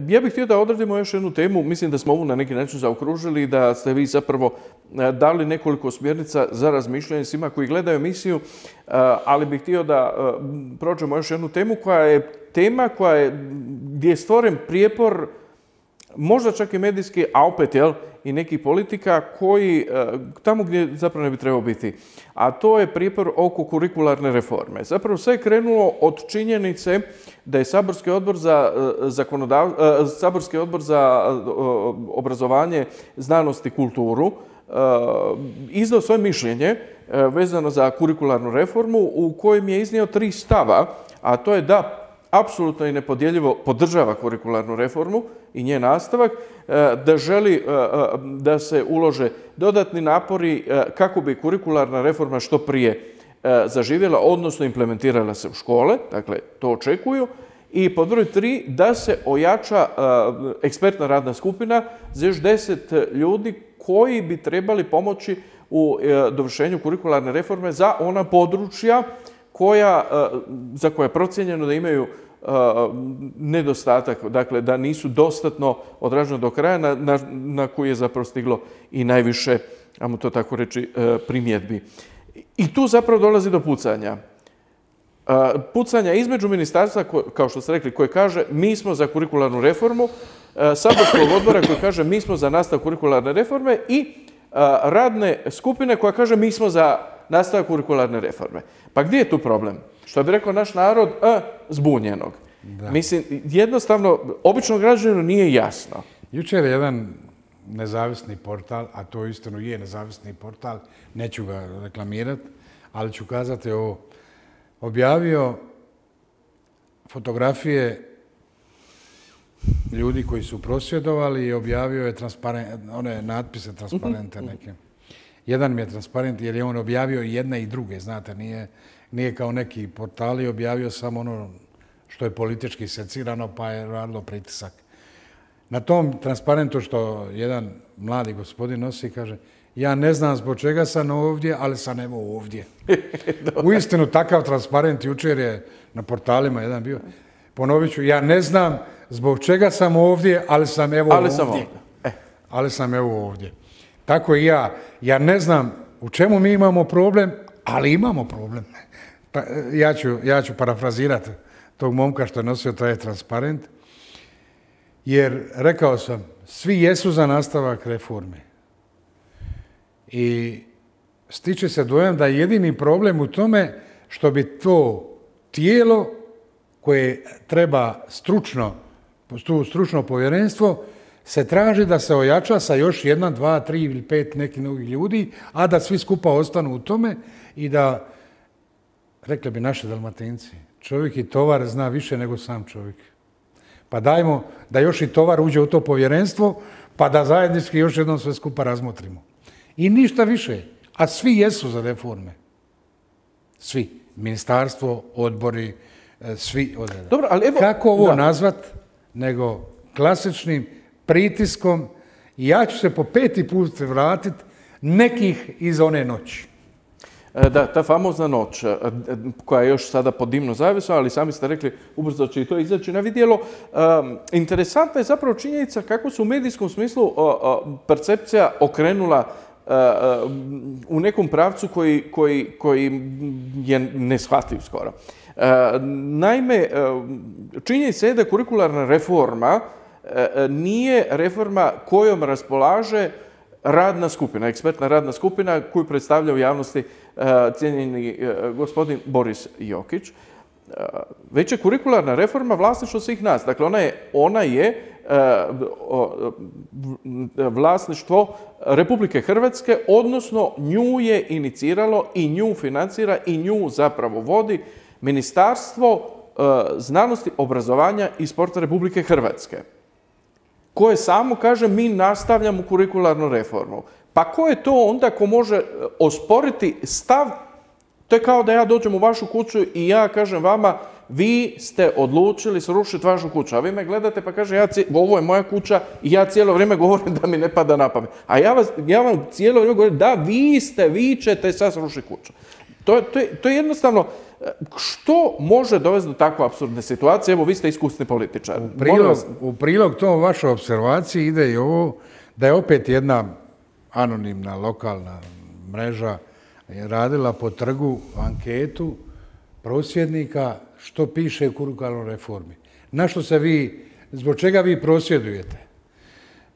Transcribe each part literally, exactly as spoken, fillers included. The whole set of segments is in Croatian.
Ja bih htio da odradimo još jednu temu, mislim da smo ovu na neki način zaokružili, da ste vi zapravo dali nekoliko smjernica za razmišljanje svima koji gledaju emisiju, ali bih htio da prođemo još jednu temu koja je tema koja je, gdje je stvoren prijepor, možda čak i medijski, a opet jel, i nekih politika koji tamo gdje zapravo ne bi trebao biti. A to je prijepor oko kurikularne reforme. Zapravo sve je krenulo od činjenice da je Saborski odbor za, zakonodav... Saborski odbor za obrazovanje, znanost i kulturu izdao svoje mišljenje vezano za kurikularnu reformu u kojem je iznio tri stava, a to je da apsolutno i nepodjeljivo podržava kurikularnu reformu i njen nastavak, da želi da se ulože dodatni napori kako bi kurikularna reforma što prije zaživjela, odnosno implementirala se u škole, dakle to očekuju. I pod broj tri, da se ojača ekspertna radna skupina za još deset ljudi koji bi trebali pomoći u dovršenju kurikularne reforme za ona područja koja, za koje je procijenjeno da imaju nedostatak, dakle da nisu dostatno odrađeno do kraja, na, na, na koji je zapravo stiglo i najviše, ajmo to tako reći, primjedbi. I tu zapravo dolazi do pucanja. Pucanja između ministarstva, kao što ste rekli, koje kaže mi smo za kurikularnu reformu, saborskog odbora koji kaže mi smo za nastavak kurikularne reforme i radne skupine koja kaže mi smo za nastavak kurikularne reforme. Pa gdje je tu problem? Što bi rekao naš narod, a, zbunjenog. Da. Mislim, jednostavno, običnom građaninu nije jasno. Jučer je jedan nezavisni portal, a to istinu je nezavisni portal, neću ga reklamirati, ali ću kazati ovo, objavio fotografije ljudi koji su prosvjedovali i objavio je one natpise transparente neke. Jedan mi je transparent jer je on objavio i jedne i druge, znate, nije, nije kao neki portali objavio samo ono što je politički secirano pa je radilo pritisak. Na tom transparentu što jedan mladi gospodin nosi kaže ja ne znam zbog čega sam ovdje, ali sam evo ovdje. Uistinu takav transparent jučer je na portalima jedan bio. Ponovit ću, ja ne znam zbog čega sam ovdje, ali sam evo ali ovdje. Sam ovdje. Eh. Ali sam evo ovdje. Tako i ja. Ja ne znam u čemu mi imamo problem, ali imamo problem. Pa, ja, ću, ja ću parafrazirati tog momka što je nosio taj transparent. Jer rekao sam, svi jesu za nastavak reforme. I stiče se dojam da je jedini problem u tome što bi to tijelo koje treba stručno, to stručno povjerenstvo, se traži da se ojača sa još jedna, dva, tri ili pet nekih novih ljudi, a da svi skupa ostanu u tome i da, rekli bi naši Dalmatinci, čovjek i tovar zna više nego sam čovjek. Pa dajmo da još i tovar uđe u to povjerenstvo, pa da zajednički još jednom sve skupa razmotrimo. I ništa više. A svi jesu za reforme. Svi. Ministarstvo, odbori, svi odreda. Dobro, ali evo, kako ovo da. nazvat nego klasičnim pritiskom i ja ću se po peti put vratiti nekih iz one noći. Da, ta famozna noć koja je još sada pod dimnom zavjesom, ali sami ste rekli ubrzo će i to izaći na vidjelo. Interesantna je zapravo činjenica kako su u medijskom smislu percepcija okrenula u nekom pravcu koji, koji, koji je neshvatljiv skoro. Naime, činjenica je da kurikularna reforma nije reforma kojom raspolaže radna skupina, ekspertna radna skupina koju predstavlja u javnosti cijenjeni gospodin Boris Jokić. Već je kurikularna reforma vlasništvo svih nas. Dakle, ona je, ona je vlasništvo Republike Hrvatske, odnosno nju je iniciralo i nju financira i nju zapravo vodi Ministarstvo znanosti, obrazovanja i sporta Republike Hrvatske, koje samo kaže mi nastavljamo kurikularnu reformu. Pa ko je to onda ko može osporiti stav? To je kao da ja dođem u vašu kuću i ja kažem vama vi ste odlučili srušiti vašu kuću, a vi me gledate pa kaže ja, ovo je moja kuća i ja cijelo vrijeme govorim da mi ne pada na pamet. A ja, vas, ja vam cijelo vrijeme govorim da vi ste, vi ćete sad srušiti kuću. To, to, je, to je jednostavno, što može dovesti do takve apsurdne situacije? Evo, vi ste iskusni političar. U prilog, u prilog tom vašoj observaciji ide i ovo da je opet jedna anonimna lokalna mreža radila po trgu anketu prosvjednika što piše u kurikularnoj reformi. Na što se vi, zbog čega vi prosvjedujete?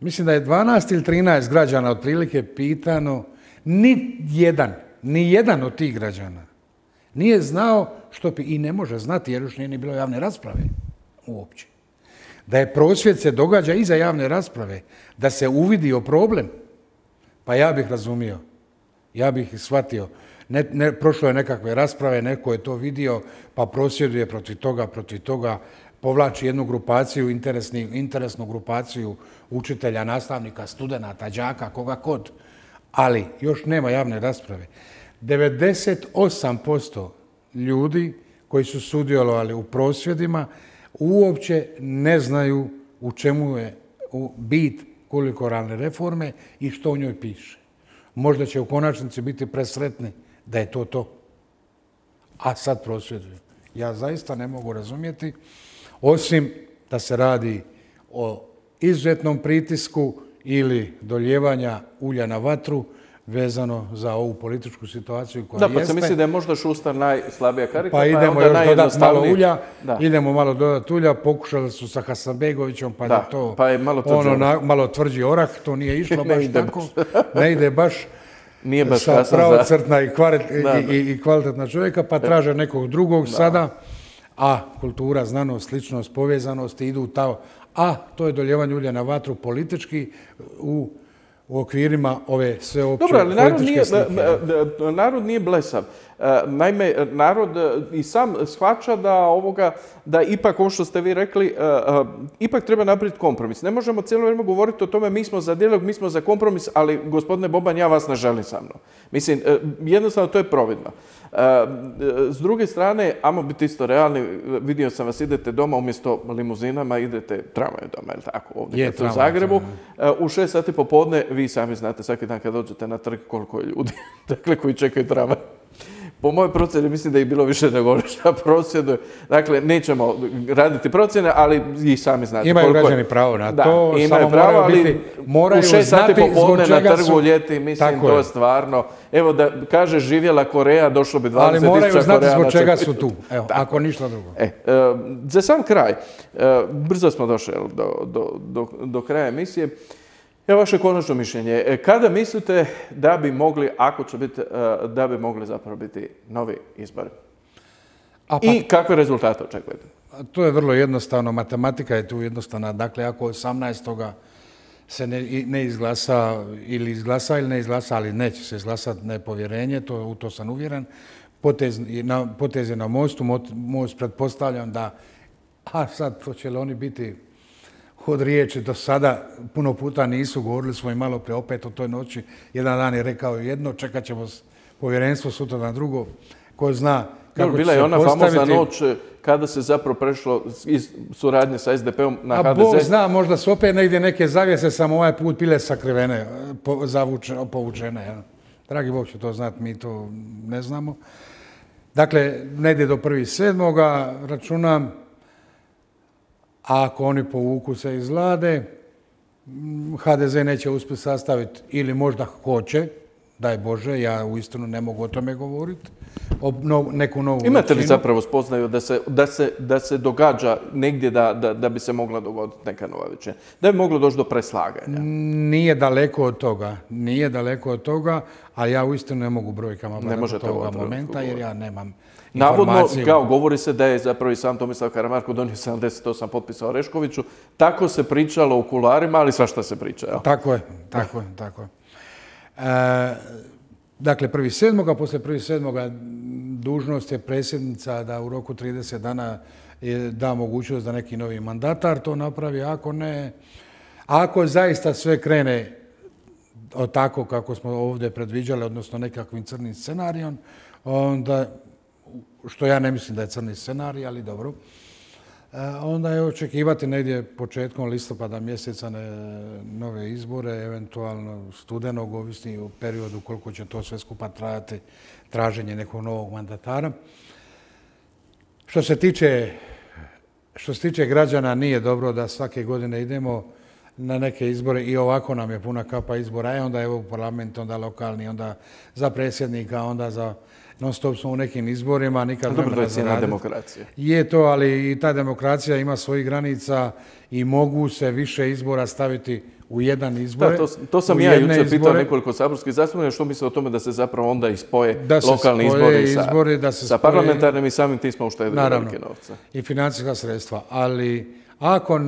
Mislim da je dvanaest ili trinaest građana otprilike pitano, ni jedan, ni jedan od tih građana nije znao što pi... i ne može znati jer još nije ni bilo javne rasprave uopće. Da je prosvjed se događa iza javne rasprave, da se uvidio problem, pa ja bih razumio, ja bih shvatio. Ne, ne, prošlo je nekakve rasprave, neko je to vidio, pa prosvjeduje protiv toga, protiv toga, povlači jednu grupaciju, interesni, interesnu grupaciju učitelja, nastavnika, studenata, đaka, koga kod. Ali još nema javne rasprave. devedeset osam posto ljudi koji su sudjelovali u prosvjedima uopće ne znaju u čemu je bit kurikularne reforme i što u njoj piše. Možda će u konačnici biti presretni da je to to. A sad prosvjeduju. Ja zaista ne mogu razumjeti, osim da se radi o izuzetnom pritisku ili doljevanja ulja na vatru vezano za ovu političku situaciju koja jeste. Da, pa se misli da je možda Šustar najslabija karika, pa, pa idemo još dodati malo ulja, da. idemo malo dodati ulja, pokušali su sa Hasanbegovićem, pa da, je to pa je malo, ono, na, malo tvrđi orah, to nije išlo baš tako, ne ide baš nije baš sa pravocrtna i, kvarit, i, i, i kvalitetna čovjeka, pa traže nekog drugog da. sada, a kultura, znanost, sličnost, povezanost idu tamo, a to je doljevanje ulja na vatru politički u u okvirima ove sveopće Dobro, ali narod političke nije, slike. Narod nije blesav. Naime, narod i sam shvaća da ovoga, da ipak, ovo što ste vi rekli, ipak treba napraviti kompromis. Ne možemo cijelo vrijeme govoriti o tome mi smo za dijalog, mi smo za kompromis, ali gospodine Boban, ja vas ne želim sa mnom. Mislim, jednostavno to je providno. S druge strane, ajmo biti isto realni, vidio sam vas, idete doma umjesto limuzinama, idete tramvajem doma, je li tako, ovdje je, kad u Zagrebu. U šest sati popodne, vi sami znate svaki dan kad dođete na trg koliko je ljudi, dakle, koji čekaju tramvaj. Po mojoj procjeni mislim da je bilo više nego šta prosvjeduje. Dakle, nećemo raditi procjene, ali i sami znate. Imaju koliko građani pravo na da, to, imaju samo pravo, moraju biti, moraju u šest znati sati popodne na trgu su... ljeti, mislim, Tako to je je stvarno. Evo da kaže živjela Koreja, došlo bi dvadeset tisuća Koreana. Ali moraju znati zbog čega su tu, evo, ako ništa drugo. E, za sam kraj, brzo smo došli do, do, do, do kraja emisije. Evo vaše konačno mišljenje. Kada mislite da bi mogli, ako će biti, da bi mogli zapravo biti novi izbori? A pa, I kakve rezultate očekujete? To je vrlo jednostavno. Matematika je tu jednostavna. Dakle, ako osamnaestog se ne, ne izglasa ili izglasa ili ne izglasa, ali neće se izglasati nepovjerenje, to, u to sam uvjeren. Potez, na, potez je na mostu. Most pretpostavljam da, a sad to će li oni biti od riječi do sada puno puta nisu, govorili smo i malo prije opet o toj noći. Jedan dan je rekao jedno, čekat ćemo povjerenstvo sutra na drugo. Ko zna kako će se postaviti. Bila je ona famozna noć kada se zapravo prešlo iz suradnje sa es de pe-om na ha de ze. A Bog zna, možda su opet negdje neke zavjese, samo ovaj put bile sakrivene, povučene. Ja. Dragi Bog će to znati, mi to ne znamo. Dakle, negdje do prvog sedmoga računam. A ako oni povuku se iz vlade, ha de ze neće uspjeti sastaviti ili možda hoće, daj Bože, ja uistinu ne mogu o tome govoriti, o no, neku novu većinu. Imate li zapravo spoznaju da se, da se, da se događa negdje da, da, da bi se mogla dogoditi neka nova većina? Da bi moglo doći do preslaganja? Nije daleko od toga, nije daleko od toga, ali ja uistinu ne mogu brojkama od toga momenta jer ja nemam Navodno, kao govori se da je zapravo i sam Tomislav Karamarko donio sedamdeset osam potpisa Oreškoviću. Tako se pričalo u kularima, ali svašta se priča. Jel? Tako je, tako je, tako je. E, dakle, prvog sedmoga, poslije prvog sedmoga dužnost je predsjednica da u roku trideset dana da mogućnost da neki novi mandatar to napravi. Ako ne, ako zaista sve krene od tako kako smo ovdje predviđali, odnosno nekakvim crnim scenarijom, onda, što ja ne mislim da je crni scenarij, ali dobro, onda je očekivati negdje početkom listopada mjeseca nove izbore, eventualno studenog, ovisni o periodu koliko će to sve skupa trajati, traženje nekog novog mandatara. Što se tiče, što se tiče građana, nije dobro da svake godine idemo na neke izbore i ovako nam je puna kapa izbora, i onda evo parlament, onda lokalni, onda za predsjednika, onda za non stop smo u nekim izborima, nikad vremena za raditi. Demokracija. Je to, ali i ta demokracija ima svojih granica i mogu se više izbora staviti u jedan izbor. Da, to, to sam ja jučer pitao nekoliko saborskih zastupnika što misle o tome da se zapravo onda ispoje da lokalni izbori sa, izbori, da se sa spoje, parlamentarnim i samim tim smo uštedili velike novce. I financijska sredstva, ali ako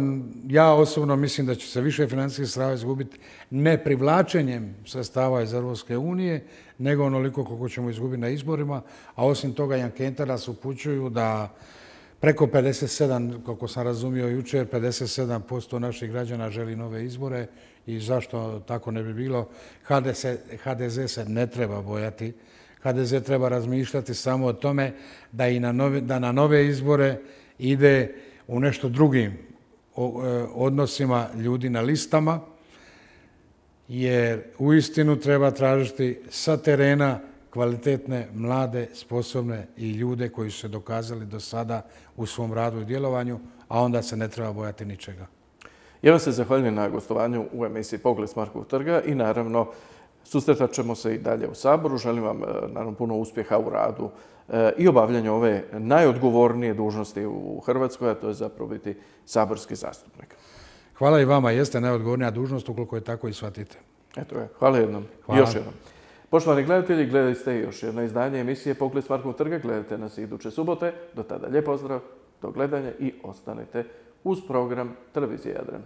ja osobno mislim da će se više financijskih sredstava izgubiti ne privlačenjem sredstava iz Europske unije, nego onoliko koliko ćemo izgubiti na izborima, a osim toga i ankete nas upućuju da preko pedeset sedam, kako sam razumio jučer, pedeset sedam posto naših građana želi nove izbore i zašto tako ne bi bilo. ha de ze se ne treba bojati. ha de ze treba razmišljati samo o tome da, i na, nove, da na nove izbore ide u nešto drugim odnosima ljudi na listama, jer uistinu treba tražiti sa terena kvalitetne, mlade, sposobne i ljude koji su se dokazali do sada u svom radu i djelovanju, a onda se ne treba bojati ničega. Ja vam se zahvaljujem na gostovanju u emisiji Pogled s Markovog trga i naravno susretat ćemo se i dalje u Saboru. Želim vam naravno puno uspjeha u radu i obavljanju ove najodgovornije dužnosti u Hrvatskoj, a to je zapravo biti saborski zastupnik. Hvala i vama, jeste najodgovornija dužnost, ukoliko je tako i shvatite. Eto je, hvala jednom. Hvala. Još jednom. Poštovani gledatelji, gledali ste još jedno izdanje emisije Pogled s Markovog trga. Gledajte nas iduće subote. Do tada lijep pozdrav, do gledanja i ostanite uz program Televizije Jadran.